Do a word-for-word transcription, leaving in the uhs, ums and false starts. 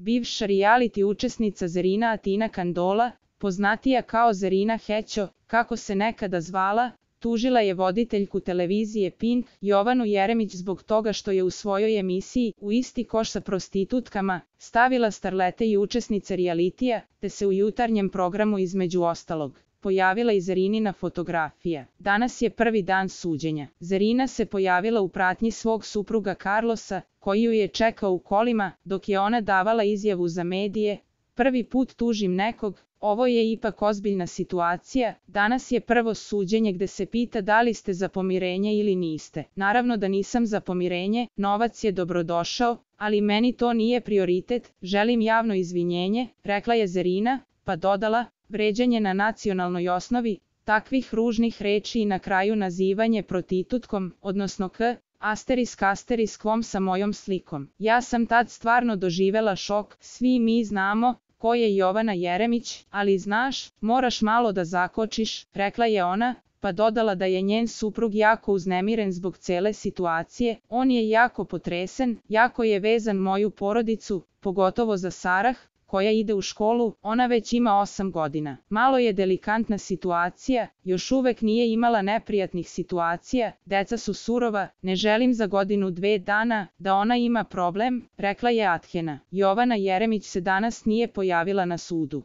Bivša reality učesnica Zerina Atina Kandola, poznatija kao Zerina Hećo, kako se nekada zvala, tužila je voditeljku televizije Pink, Jovanu Jeremić zbog toga što je u svojoj emisiji, u isti koš sa prostitutkama, stavila starlete i učesnice realitija, te se u jutarnjem programu između ostalog pojavila i Zerinina fotografija. Danas je prvi dan suđenja. Zerina se pojavila u pratnji svog supruga Carlosa, koji ju je čekao u kolima, dok je ona davala izjavu za medije. Prvi put tužim nekog, ovo je ipak ozbiljna situacija, danas je prvo suđenje gde se pita da li ste za pomirenje ili niste. Naravno da nisam za pomirenje, novac je dobrodošao, ali meni to nije prioritet, želim javno izvinjenje, rekla je Zerina, pa dodala, vređanje na nacionalnoj osnovi, takvih ružnih reči i na kraju nazivanje prostitutkom, odnosno k, asterisk asteriskvom sa mojom slikom. Ja sam tad stvarno doživela šok, svi mi znamo ko je Jovana Jeremić, ali znaš, moraš malo da zakočiš, rekla je ona, pa dodala da je njen suprug jako uznemiren zbog cele situacije, on je jako potresen, jako je vezan moju porodicu, pogotovo za Sarah, koja ide u školu, ona već ima osam godina. Malo je delikatna situacija, još uvek nije imala neprijatnih situacija, deca su surova, ne želim za godinu dve dana da ona ima problem, rekla je Athena. Jovana Jeremić se danas nije pojavila na sudu.